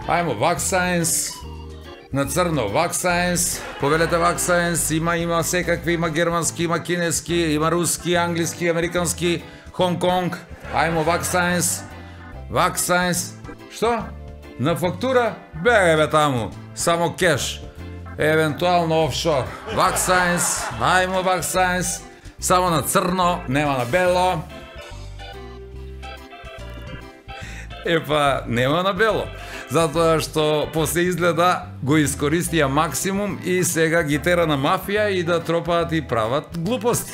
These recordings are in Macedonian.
Ајмо Vaxscience. На црно Vaxscience. Повелете Vaxscience, има секакви, има германски, има кинески, има руски, англиски, американски, Хонг-Конг. Ајмо Vaxscience. Vaxscience. Што? На фактура? Бегај бе таму. Само кеш. Евентуално офшор. Vaxscience. Ајмо Vaxscience. Само на црно, нема на бело. Нема на бело. Затоа што после изгледа го искористија максимум и сега ги тера на мафија и да тропаат и прават глупости.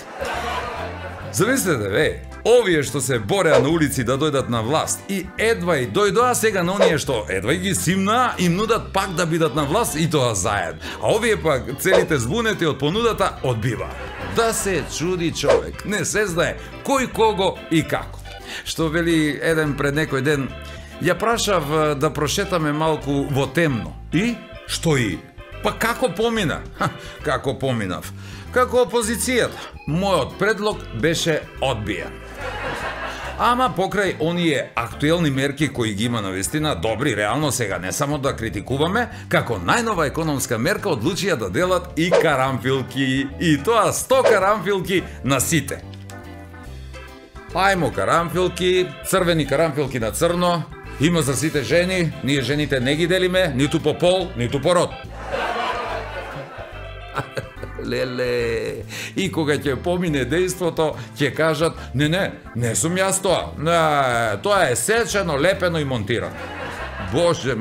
Замислете, овие што се бореа на улици да дојдат на власт и едва и дојдоа, сега на оние што едва и ги симнаа, им нудат пак да бидат на власт и тоа заедно. А овие пак целите збунети од понудата одбива. Да се чуди човек, не се знае кој кого и како. Што вели еден пред некој ден, ја прашав да прошетаме малку во темно. И? Што и? Па како помина? Како поминав? Како опозицијата. Мојот предлог беше одбиен. Ама покрај оние актуелни мерки кои ги има навистина, добри, реално сега не само да критикуваме, како најнова економска мерка одлучија да делат и карамфилки. И тоа 100 карамфилки на сите. Ајмо карамфилки, црвени карамфилки на црно, има за сите жени, ние жените не ги делиме, ниту по пол, ниту по род. Леле, и кога ќе помине дејството, ќе кажат, не сум јас тоа, тоа е сечено, лепено и монтирано. Боже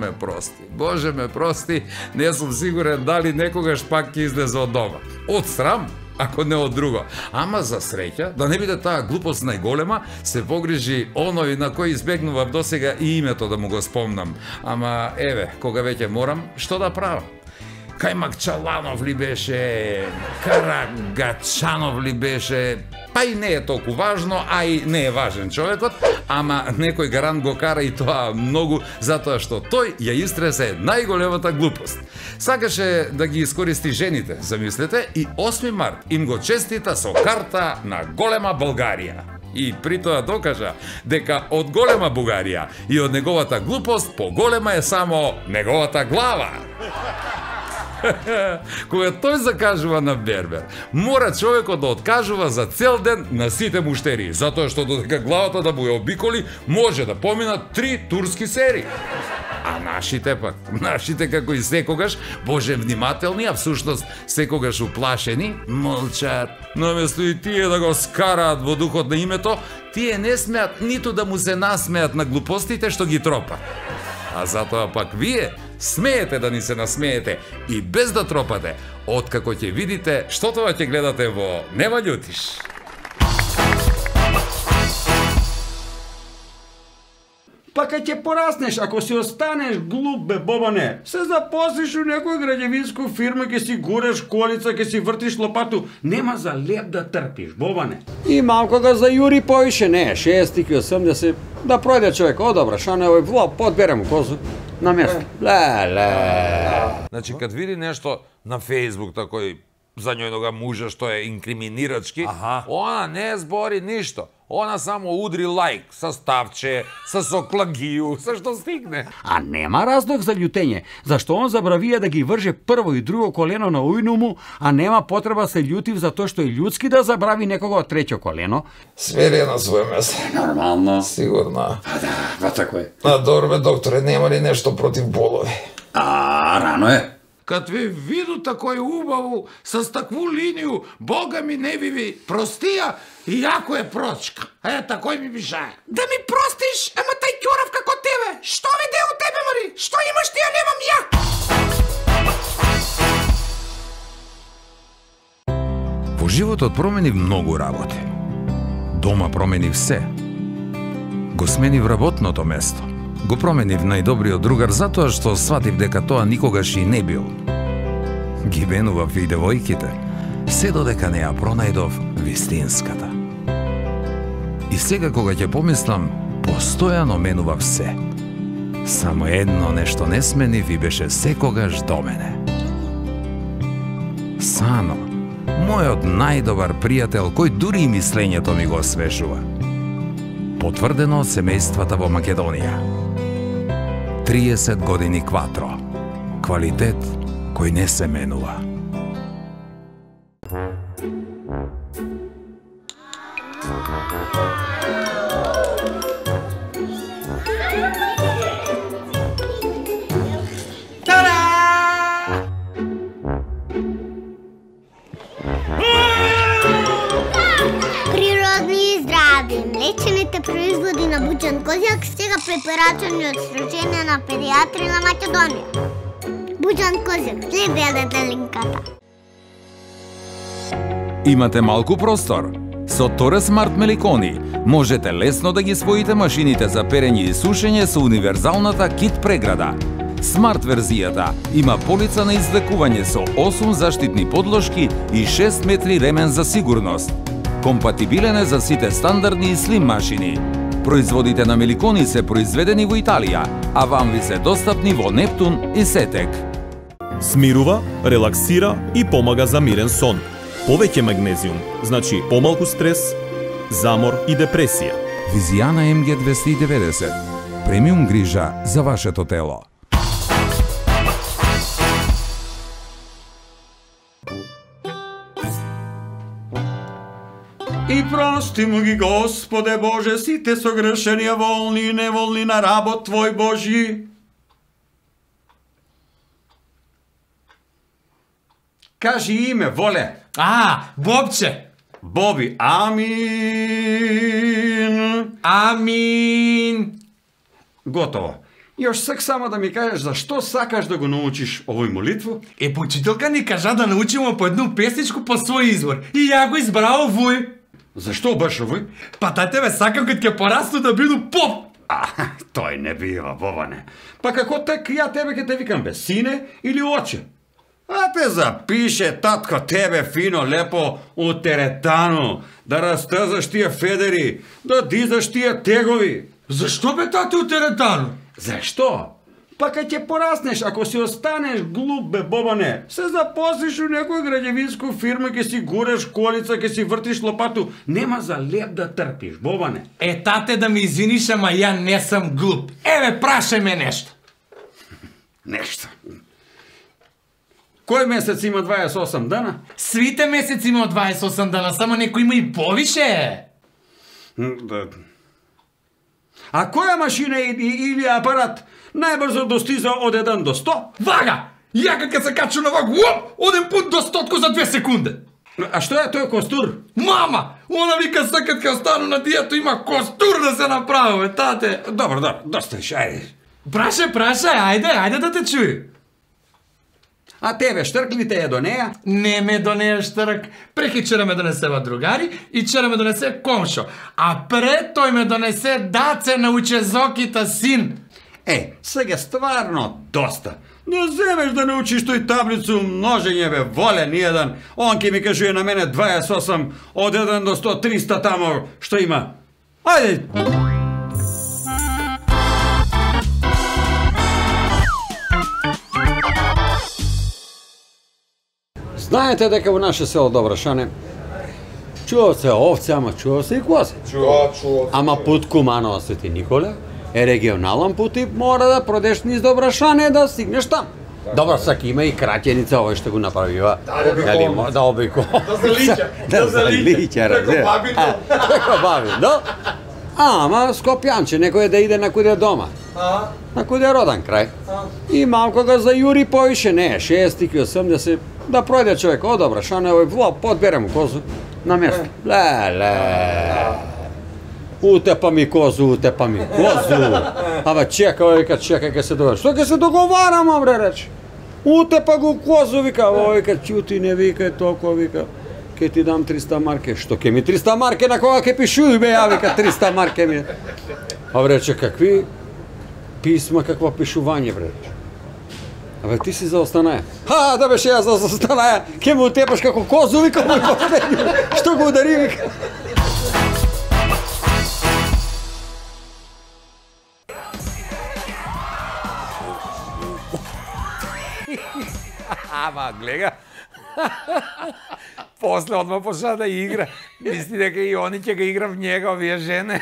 ме прости, не сум сигурен дали некогаш пак ќе излезе од дома. Од срам, ако не од друго. Ама за среќа, да не биде таа глупост најголема, се погрижи оној на кој избегнував досега и името да му го спомнам. Ама еве, кога веќе морам, што да правам? Кајмакчаланов ли беше, Карагачанов ли беше, па и не е толку важно, а и не е важен човекот, ама некој гарант го кара и тоа многу, затоа што тој ја истресе најголемата глупост. Сакаше да ги искористи жените, замислете, и 8 март им го честита со карта на голема Българија. И при тоа докажа дека од голема Бугарија и од неговата глупост поголема е само неговата глава. Кога тој закажува на бербер, мора човекот да откажува за цел ден на сите муштери, затоа што додека главата да му ја обиколи, може да поминат 3 турски серии. А нашите како и секогаш, боже внимателни, а всушност секогаш уплашени, молчат. Наместо и тие да го скараат во духот на името, тие не смеат ниту да му се насмеат на глупостите што ги тропа. А затоа пак вие смеете да ни се насмеете и без да тропате, откако ќе видите што тоа ќе гледате во Нема љутиш. Па кај ќе пораснеш, ако си останеш глуп бе, Бобане, се запослиш у некоја граѓевинска фирма, ќе си гуреш колица, ќе си вртиш лопату, нема за леп да трпиш, Бобане. И малко да зајури повише, не, 60-80, да пројде човек, одобра, шо не овој, подбере му козу на место. Ле. Значи, кад види нешто на Фејсбук, такој за њојнога мужа што е инкриминирачки, она не збори ништо. Она само удри лайк со ставче, со соклагију, со што стигне. А нема разлог за љутење, зашто он забравија да ги врже прво и друго колено на ујну му, а нема потреба се љутив за тоа што е људски да забрави некого од треќо колено. Свери на своје место. Нормално. Сигурно. Да, тако е. А добре, докторе, нема ли нешто против боломи? Рано е. Кад ве виду такој убаву, со такву линију, Бога ми не ви простија, иако е прочка. Такој ми бишае. Да ми простиш, ама тај ќорав како тебе. Што виде у тебе, мари? Што имаш ти, а немам ја? Во животот променив многу работи. Дома променив се. Го сменив работното место. Го променив најдобриот другар затоа што сватив дека тоа никогаш и не бил. Ги менував и девојките, се додека не ја пронајдов вистинската. И сега кога ќе помислам, постојано менував се. Само едно нешто не сменив и беше секогаш до мене. Сано, мојот најдобар пријател, кој дури и мислењето ми го освежува. Потврдено од семејствата во Македонија. 30 години Кватро. Квалитет кој не се менува. Млечените производи на Буџан Козјак сега препорачани од Сдружение на педиатри на Македонија. Буџан Козјак, следете линката. Имате малку простор? Со Торе Смарт Меликони можете лесно да ги споите машините за перење и сушење со универзалната кит преграда. Смарт верзијата има полица на извлекување со 8 заштитни подложки и 6 метри ремен за сигурност. Компатибилен е за сите стандардни и слим машини. Производите на Меликони се произведени во Италија, а вам ви се достапни во Нептун и Сетек. Смирува, релаксира и помага за мирен сон. Повеќе магнезиум, значи помалку стрес, замор и депресија. Визијана МГ 290. Премиум грижа за вашето тело. И прости му ги, Господе Боже, сите согрешенија волни и неволни на работ Твој Божи. Кажи име, воле. Бобче. Боби, амин. Амин. Готово. Још сак само да ми кажеш зашто сакаш да го научиш овој молитву? Почителка ни кажа да научимо по едну песничку по свој избор. И ја го избрав овој. Зашто баш овој? Па тајте ме сакам кога ќе порасту да биду поп. Тој не бива, Бобане. Па како така ја тебе ќе те викам бе, сине или оче? А те запише татко тебе фино лепо у теретану, да растазаш тие федери, да дизаш тие тегови. Зашто бе тате у теретану? Зашто? Па кај ќе пораснеш, ако си останеш глуп бе, Бобане, се запослиш у некоја граѓевинско фирма, ќе си гуреш колица, ќе си вртиш лопату, нема за леп да трпиш, Бобане. Тате да ми извиниш, ама ја не сум глуп. Еве, прашај ме нешто. Нешто. Кој месец има 28 дана? Свите месеци има 28 дана, само некој има и повише. А која машина или апарат најбрзо достиза од 1 до 100? Вага! Ја кога се качу на ваг, оден пут до 100 за 2 секунди. А што е тој костур? Мама! Она вика сакат кога стану на диету има костур да се направи, тате. Добро, доста виш, ајде. Прашај, ајде да те чуи. А тебе штрк ли те е до неја? Не ме донеја штрк. Прекичера ме донесева другари и чера ме донесе комшо. А пред тој ме донесе даце на учезокита син. Сега стварно доста. Но земеш да научиш тој таблицу множење бе, воле ниједан. Он ке ми кажуе на мене 28 од 1 до 100, 300 тамо што има. Ајде! Знаете дека во наше село Добрашане чуват се овце, ама чуват се и кози. Чуват. Ама пут Куманово Свети Николе е регионален пут и мора да продеш низ Добрашане да стигнеш там. Добро, сак има и краќеница, овој што го направива. Да обиколно. Да залича, Како бабино. Ама Скопјанче, некој да иде на куде дома. На куде роден крај. И малко го зајури повише, не, 60, да пројде човек од Добрашане, овој подбере му козу на место. Утепа ми козу. Абе, чека, ке се договарам. Што ке се договарам, бре, рече? Утепа го козу, вика, овој вика, чути, не викај толку, вика, ке ти дам 300 марке. Што ке ми 300 марке, на кога ке пишуј, бе, ја, вика, 300 марке ми. Абе, рече, какви писма, какво пишување, бре, рече. Абе, ти си за Останаја. Да беше ја за Останаја, ке му утепаш како козу, вика, што го удари, вика. Ама, гледа. После одма почна да игра. Мисли дека и они ќе ги игра в njega, овие жене.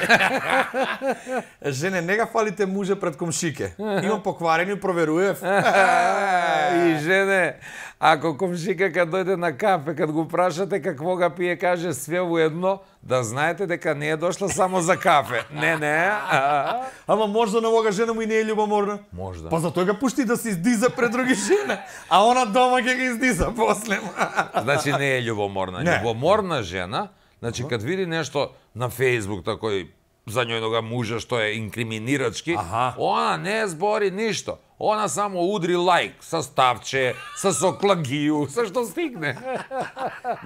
Жене, не га фалите муже пред комшике. Имам покварени, проверуев. И жене, ако комшика кад дојде на кафе, кад го прашате какво га пие, каже све уедно, да знаете дека не е дошла само за кафе. Не. Ама можда на овога жена му и не е љубоморна. Можда. Па затоа га пушти да се издиза пред други жени, а она дома ќе ги издиза после. Значи не е љубоморна. Не. Љубоморна жена, значи кад види нешто на Facebook такој за њојнога мужа што е инкриминирачки, она не збори ништо. Она само удри лайк со ставче, со соклагију, со што стигне.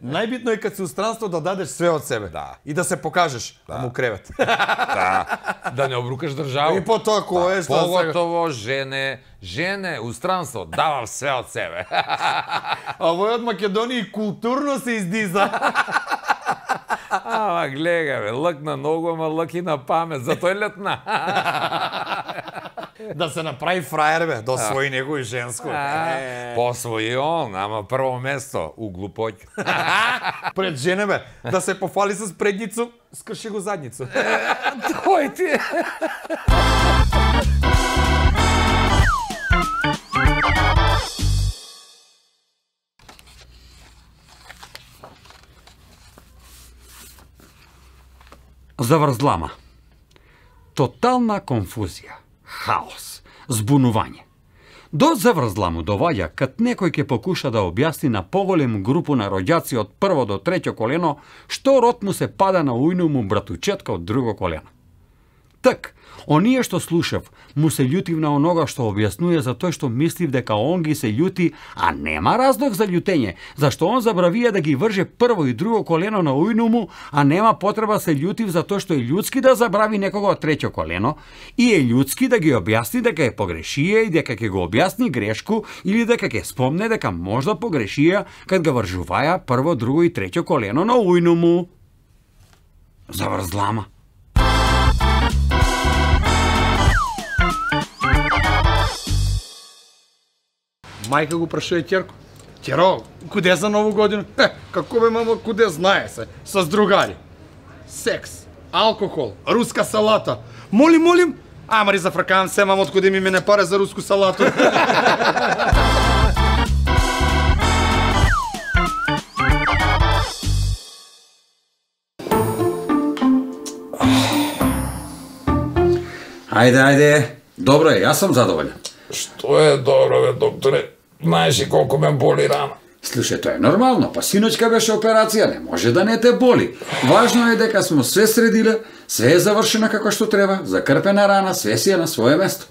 Најбитно е кад си у странство да дадеш све од себе. Да. И да се покажеш му кревет. Да не обрукаш држава. И по тоа кој е што Поготово жене у странство дава све од себе. А овој од Македонија и културно се издиза. Ама гледа бе, лък на ногу, ама лък и на памет, затој летна. Да се направи фраер бе, да освои некој женско. Посвои он, ама прво место у глупоќ. Пред жене бе, да се пофали с предницу, скрши го задницу. Тој ти. Заврзлама. Тотална конфузија, хаос, збунување. До заврзламу доваѓа кад некој ќе покуша да објасни на поголем групу на роѓаци од прво до треќо колено што род му се пада на ујну му братучетка од друго колено. Так, оние што слушав, му се љутив на онога што објаснува за тој што мислив дека он ги се љути, а нема разлог за љутење, зашто он забравија да ги врже прво и друго колено на ујну му, а нема потреба се љутив за тоа што е људски да забрави некого од треќо колено, и е људски да ги објасни дека е погрешија и дека ќе го објасни грешку или дека ќе спомне дека можда погрешија кад ga вржуваја прво, друго и треќо колено на ујну му. Заврзлама. Мајка го прашува ќерко. Ќеро, куде за нову година? Како бе, мамо, куде знае се? С другари. Секс, алкохол, руска салата. Молим. Амари зафркавам се, мамо, откуде ми мене паре за руску салату. Ајде. Добро е, јас сум задоволен. Што е добро, бе, докторе? Знаеш и колку ме боли рана. Слушај, тоа е нормално, па синочка беше операција, не може да не те боли. Важно е дека смо све средиле, све е завршено како што треба, закрпена рана, све си е на свое место.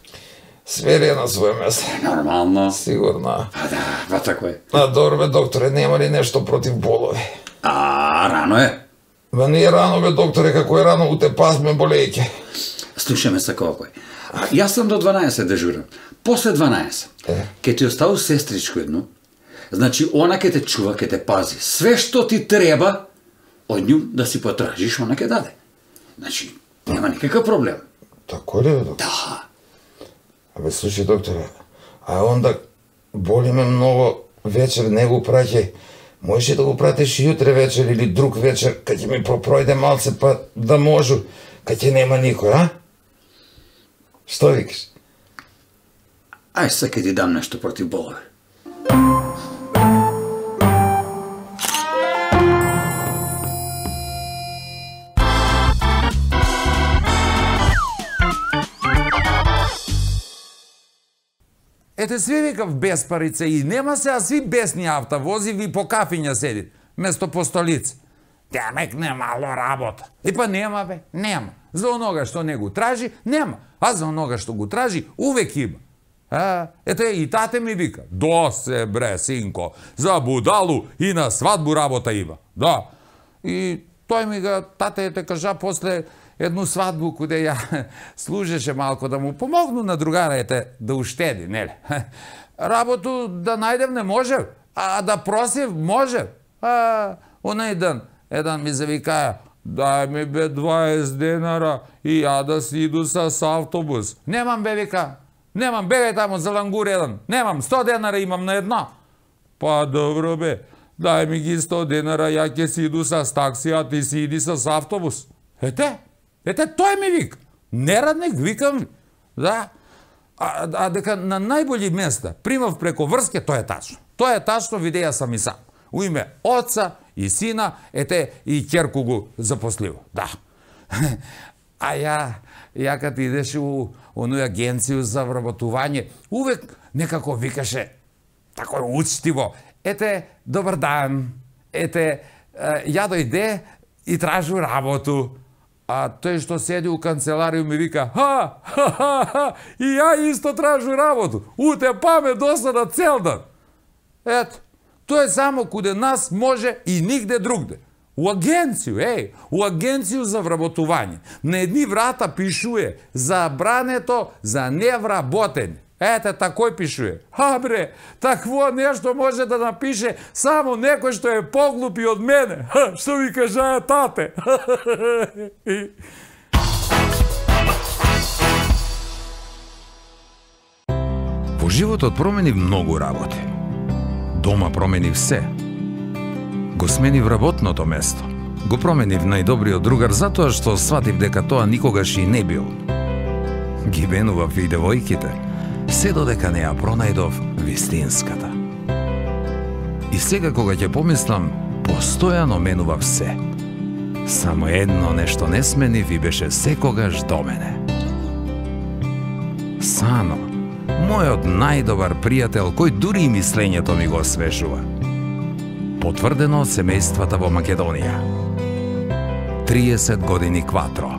Све ли е на своје место? Нормално. Сигурно. Па да, па тако е. А добро, бе, докторе, нема ли нешто против болови? Рано е. Ба не е рано, бе, докторе, како е рано, уте пас ме болејќи. Слушаме се колко е. Јас сам до 12 дежурам. После 12, ке ти оставу сестричко едно, значи она ке те чува, ке те пази. Све што ти треба, од нju да си потражиш, она ке даде. Значи, нема никакав проблем. Тако ли, бе, доктор? Да. Абе, слушай, докторе, а онда боли ме многу вечер, не го праќај. Можеш да го пратиш јутре вечер или друг вечер, кај ќе ми пропројде малце, па да можу, кај ќе нема никој, а? Што викаш? Ај се ке ти дам нешто против болови. Ете сви викав без парица и нема се, а сви бесни автовози ви по кафиња седи, место по столица. Демек немало работа. И па нема бе, нема. За онога што не го тражи, нема. А за онога што го тражи, увек има. Ете и тате ми вика, досе бре, синко, за будалу и на свадбу работа има. Да. И тој ми га, тате те кажа после едну свадбу куде ја служеше малко да му помогну на другарите да уштеди, нели? Работу да најдев не може, а да просив може. Онај ден, еден ми завикаја, дај ми бе 20 денара и ја да си иду с автобус. Немам бе, вика, немам, бегај тамо за лангур еден, немам, 100 денара имам на една. Па добро бе, дај ми ги 100 денара, ја ќе си иду с такси, а ти си иди с автобус. Ете, тој ми вика. Нерадник, викам, да. А дека на најболи места примав преко врске, тоа е тачно. Тоа е тачно, видеја сам и сам. У име оца и сина, ете и ќерку го запослива. Да. А ја кад идеше у оној агенцију за вработување, увек некако викаше тако учтиво: ете, добар дан, ете, ја дојде и тражу работу. А тој што седи у канцеларија ми вика: и ја исто тражу работу. Уте паме досада цел дан. Ето, тоа е само куде нас може и нигде другде. У агенцију, у агенцију за вработување. На едни врата пишуе забрането за невработени. Ете, такој пишуе. Бре, такво нешто може да напише само некој што е поглупи од мене. Што ви кажа тате? Во животот променив многу работи. Дома променив се. Го сменив работното место. Го променив најдобриот другар затоа што сватив дека тоа никогаш и не бил. Ги менував и девојките, се додека не ја пронајдов вистинската. И сега кога ќе помислам, постојано менував се. Само едно нешто не сменив и беше секогаш до мене. Сано, мојот најдобар пријател, кој дури и мислењето ми го освежува. Потврдено од семејствата во Македонија. 30 години кватро.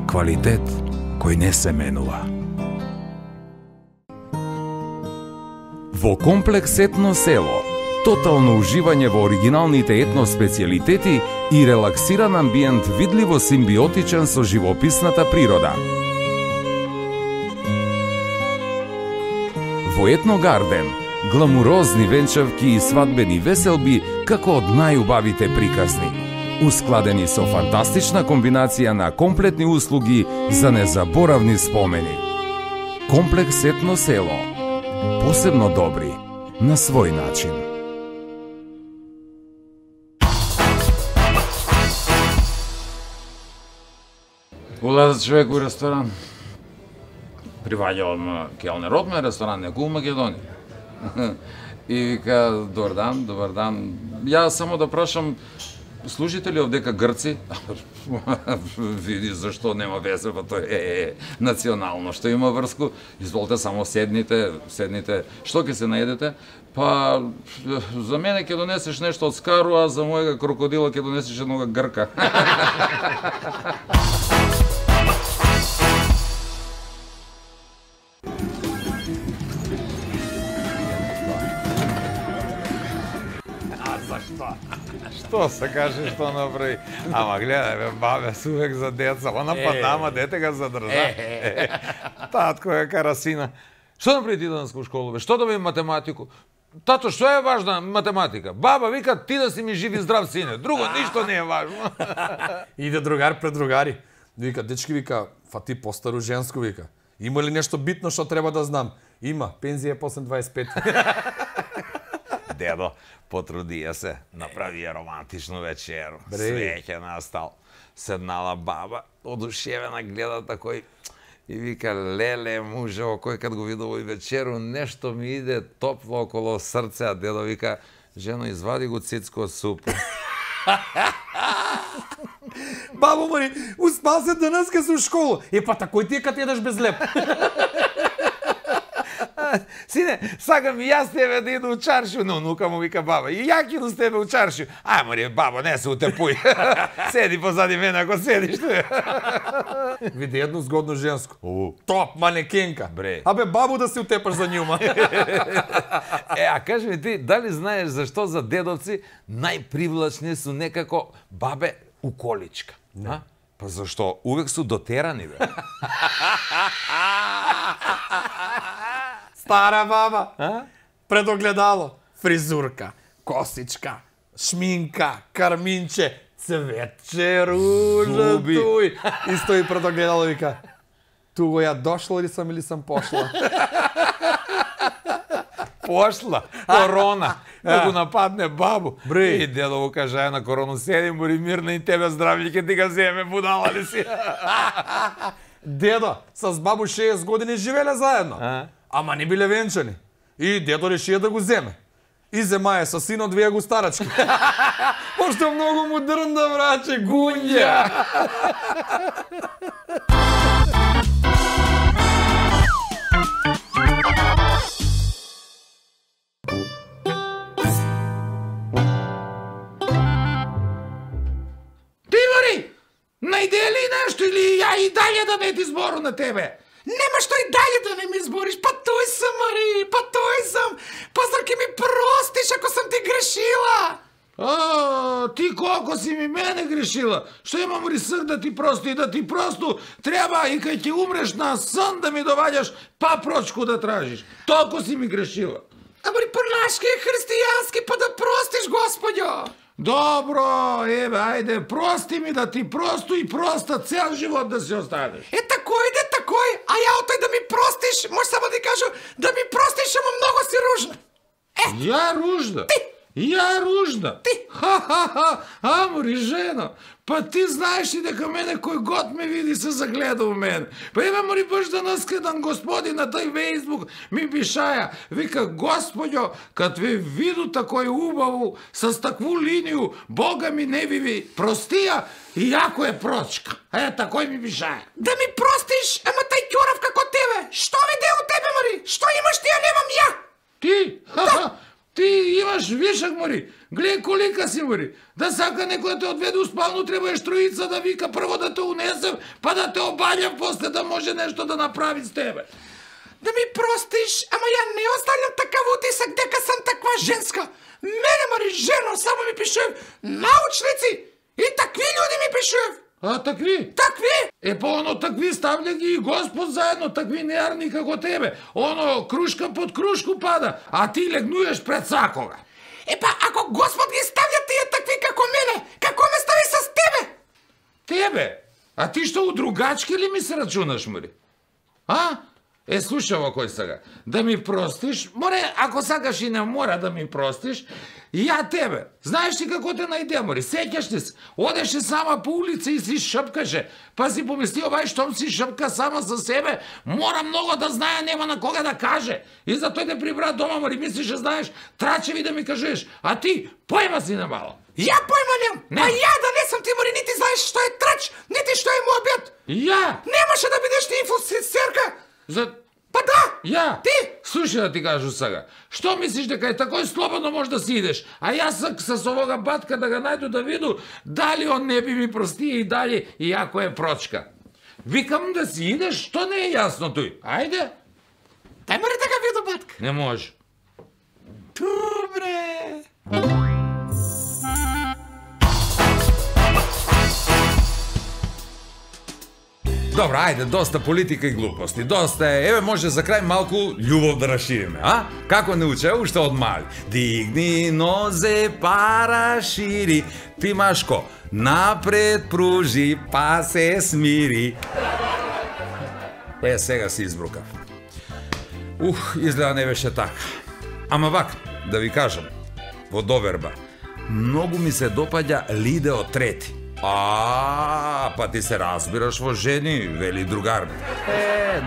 Квалитет кој не се менува. Во комплекс Етно село, тотално уживање во оригиналните етно специјалитети и релаксиран амбиент видливо симбиотичен со живописната природа. Во Етно Гарден, гламурозни венчавки и свадбени веселби како од најубавите приказни, ускладени со фантастична комбинација на комплетни услуги за незаборавни спомени. Комплекс Етно село, посебно добри на свој начин. Улаза човек у ресторан. Приваѓавам келнерот ме ресторан некој у Македонија. И вика: добар дан. Ја само да прашам, служите ли овдека грци? Види зашто нема везе, па тоа е национално, што има врску. Изволте само седните. Што ќе се најдете? Па за мене ќе донесеш нешто од Скару, а за мојega крокодила ќе донесеш еднога грка. Што се каже, што направи? Ама гледај бе, бабе, сувек за деца, она па нама дете га задржа. Татко е карасина. Што направи ти денес во школа, бе? Што доби математику? Тато, што е важна математика? Баба вика: ти да си ми жив и здрав сине, друго ништо не е важно. Иде другар пред другари. Вика: дечки, вика, фати постару женско, вика. Има ли нешто битно што треба да знам? Има, пензија после 25. Дедо, потрудија се, направи ја романтичну вечеру. Свеќе настал. Седнала баба, одушевена, гледа такој и вика: леле, мужево, кој кад го види овој вечеру, нешто ми иде топло около срце, а дедо вика: жено, извади го цицко од супа. Бабо мој, успал се денеска си у школу. Па такој ти е кад едаш без леп. Сине, сакам и јас тебе да иду у чаршију, но внука му вика: баба, и ја ќе иду с тебе у чаршију. Ајмо баба, не се утепуј. Седи позади мене ако седиш tu. Види едно згодно женско. Топ манекенка. Бре. Абе, бабу да се утепаш за њума. А кажи ми ти, дали знаеш зашто за дедовци најпривлачни су некако бабе у количка? Не. Па зашто? Увек су дотерани, бе. Стара баба, пред огледало, фризурка, косичка, шминка, карминче, цветче, ружа, туј. И стои пред огледало и вика: туго ја дошла или сам пошла? Пошла, корона. да го нападне бабу. Бре. И дедо му каже, на корону седи, мори мирно и тебе здравје ќе ти ga земе, будала ли си? Дедо, с бабу 60 години живеле заедно. Ама не биле венчани. И дедо решија да го земе. И земае со синот две го старачки. Пошто многу му дрнда, браче, гунѓа. Најде ли нешто или ја и далje да не ти збору на тебе? Нема што и далje да не ми збориш, па тој сам, Мари, па тој сам. Па зар ке ми простиш ако сам ти грешила? Ти колко си ми мене грешила? Што имам риск да ти прости и да ти просто треба и кај ќе умреш на сон да ми доваѓаш папрочку да тражиш. Толку си ми грешила. Мари, по-нашки е христијански, па да простиш, Господјо. Добро, еве, ајде, прости ми да ти просто и проста цел живот да си останеш. Такој, а ја отай да ми простиш, може само да ти кажу, да ми простиш, ама многу си ружна. Ја ружна? Ти! Ја ружна? Ти! Ха-ха-ха, амори жено, па ти знаеш ли дека мене кој год ме види се загледа у мене. Па еве мори баш данас кадан господин на тој Фейсбук ми пишаја, вика, Господјо, кад ве виду такој убаву, с такву линiju, Бога ми не ви простија, иако е прочка. Такој ми пишаја. Да ми простиш, ама тај ќорав како тебе, што виде у тебе, Мари? Што имаш ти, а немам ја? Ти? Ха-ха! Ти имаш вишак, мори. Гледај колика си, мори. Да сака некој те одведе у спалну, треба троица да вика прво да те унесем, па да те обаљам после да може нешто да направи с тебе. Да ми простиш, ама ја не оставljam такав утисак дека сам таква женска. Мене, Мари, жено, само ми пишев научници и такви луѓе ми пишев. Такви? Такви? Па оно такви ставља ги и Господ заедно, такви неарни како тебе. Оно крушка под крушку пада, а ти легнуеш пред сакога. Па ако Господ ги ставља тие такви како мене, како ме стави с тебе? Тебе? А ти што у другачки ли ми се рачунаш, Мари? Слушай ово кој сега. Да ми простиш, море, ако сакаш и не мора да ми простиш, ја тебе. Знаеш ли како те најде, Мари? Сеќаш ли се? Одеше сама по улица и си шапкаше. Па си помисли, овај штом си шапка сама за себе, мора много да знае, нема на кога да каже. И затоа те прибра дома, Мари, мислиш, знаеш, трачеви да ми кажеш, а ти појма си на мало. Ја појма нем, а ја да не сум ти, Мари, нити знаеш што е трач, нити што е муабет. Ја? Немаше да бидеш ти инфосерка. Па да! Ја? Ти? Слушај да ти кажу сега. Што мислиш дека е такој слободно може да си идеш? А јас с овога батка да го најду да виду дали он не би ми простија и дали иако е прочка. Викам да си идеш, што не е јасно тој? Ајде. Тај Мари да го виду батка. Не може. Добре. Добро, ајде, доста политика и глупости. Доста е. Еве може за крај малку љубов да расшириме, а? Како не уче уште од мали. Дигни нозе, пара шири, Тимашко, напред пружи, па се смири. Сега си избрукав. Изгледа не беше така. Ама вака, да ви кажам, во доверба, многу ми се допаѓа Лидео трети. Па ти се разбираш во жени, вели другарни.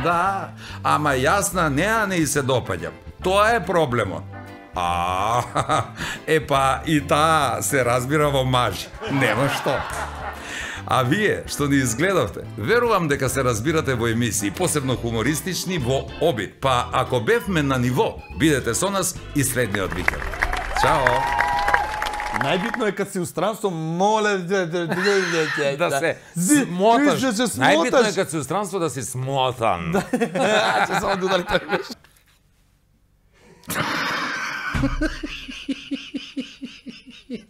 Да, ама јас на неа не и се допаѓам. Тоа е проблемот. Па и таа се разбира во мажи. Нема што. А вие, што ни изгледавте, верувам дека се разбирате во емисии, посебно хумористични во обид. Па ако бевме на ниво, бидете со нас и следниот викенд. Чао! Најбитно е кад си у странство, моле да се смоташ. Најбитно е кад си у странство да си смотан. Ќе само да удари тој беше.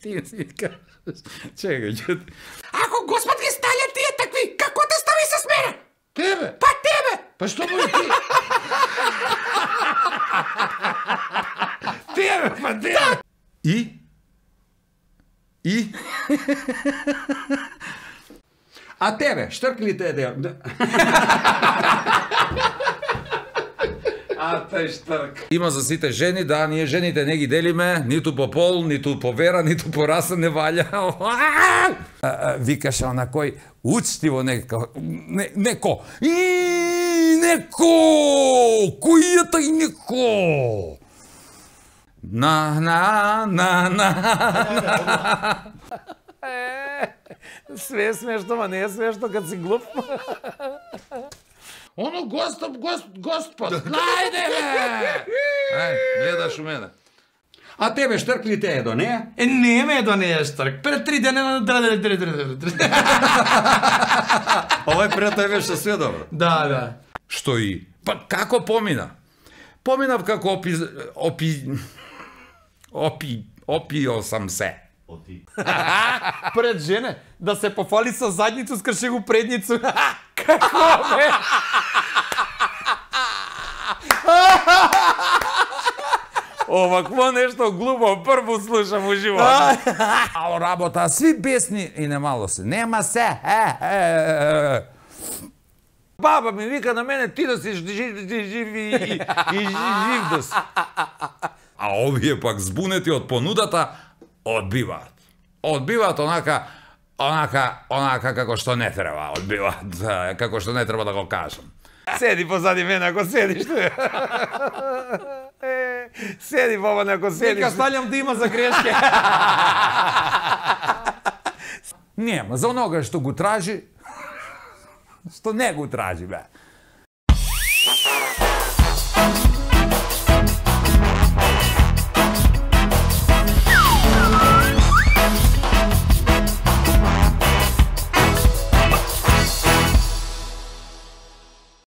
Ти си кажеш. Чекај. Ако Господ ги ставља тие такви, како те стави с мене? Тебе? Па тебе! Па што му ти? Тебе, па тебе! И? А тебе, штркли те дел? А тај Штрк. Има за сите жени, да, ние жените не ги делиме, ниту по пол, ниту по вера, ниту по раса не валја. Викаше она кој учтиво неко. Неко! Кој е тај неко? На. Све е смешно, ма не е смешно кад си глуп. Оно господ, најде бе! Гледаш у мене. А тебе Штрк ли те едо, не? Не ме до неја Штрк. Пред 3 дена Овој пред тој беше све добро. Да. Што и? Па како помина? Поминав како опио сам се. Пред жене, да се пофали со задницу, скрши го предницу. Како бе? Овакво нешто глупо прво слушам у живот. Ало работа, сви бесни и немало се. Нема се. Баба ми вика на мене, ти да си жив и жив да си. А овие пак збунети од понудата одбиваат. Одбиваат онака како што не треба, одбиваат како што не треба да го кажам. Седи позади мене ако седиш. Седи баба ако седиш. Нека ставljam да има за грешке. Нема, за онога што го тражи, што не го тражи, бе.